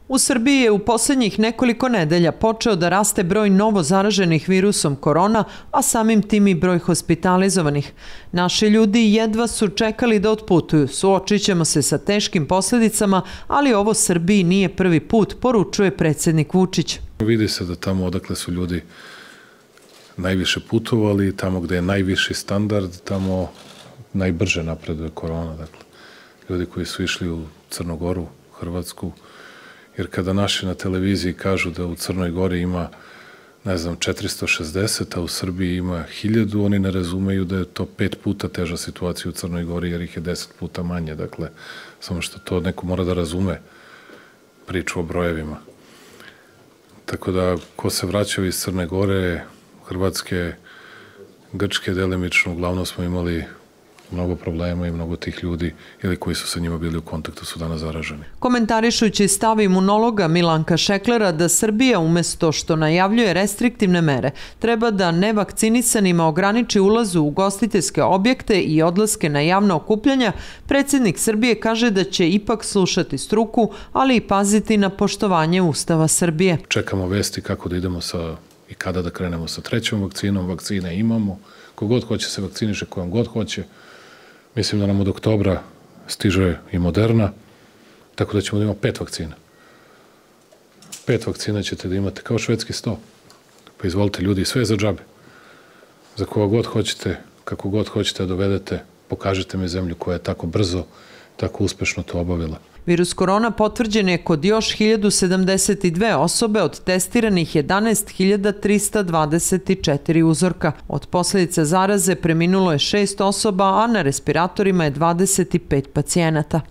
U Srbiji je u posljednjih nekoliko nedelja počeo da raste broj novo zaraženih virusom korona, a samim tim i broj hospitalizovanih. Naši ljudi jedva su čekali da otputuju, suočit ćemo se sa teškim posljedicama, ali ovo Srbiji nije prvi put, poručuje predsjednik Vučić. Vidi se da tamo odakle su ljudi najviše putovali, tamo gde je najviši standard, tamo najbrže napreduje korona. Dakle, ljudi koji su išli u Crnu Goru, Hrvatsku, jer kada naši na televiziji kažu da u Crnoj Gori ima, ne znam, 460, a u Srbiji ima 1000, oni ne razumeju da je to 5 puta teža situacija u Crnoj Gori, jer ih je 10 puta manje. Dakle, samo što to neko mora da razume priču o brojevima. Tako da, ko se vraćao iz Crne Gore, Hrvatske, Grčke delimično, uglavnom smo imali mnogo problema i mnogo tih ljudi ili koji su sa njima bili u kontaktu su danas zaraženi. Komentarišući stav imunologa Milanka Šeklera da Srbija umesto što najavljuje restriktivne mere, treba da nevakcinisanima ograniči ulaz u ugostiteljske objekte i odlaske na javna okupljanja, predsjednik Srbije kaže da će ipak slušati struku, ali i paziti na poštovanje Ustava Srbije. Čekamo vesti kako da idemo i kada da krenemo sa 3. vakcinom. Vakcine imamo. Kogod hoće se vakciniše, kojom god hoće. Mislim da nam od oktobra stiže i Moderna, tako da ćemo da imamo 5 vakcina. 5 vakcina ćete da imate kao švedski sto. Pa izvolite ljudi, sve je za džabe. Za koga god hoćete, kako god hoćete da dovedete, pokažite mi zemlju koja je tako brzo, tako uspešno to obavila. Virus korona potvrđen je kod još 1072 osobe od testiranih 11.324 uzorka. Od posljedica zaraze preminulo je 6 osoba, a na respiratorima je 25 pacijenata.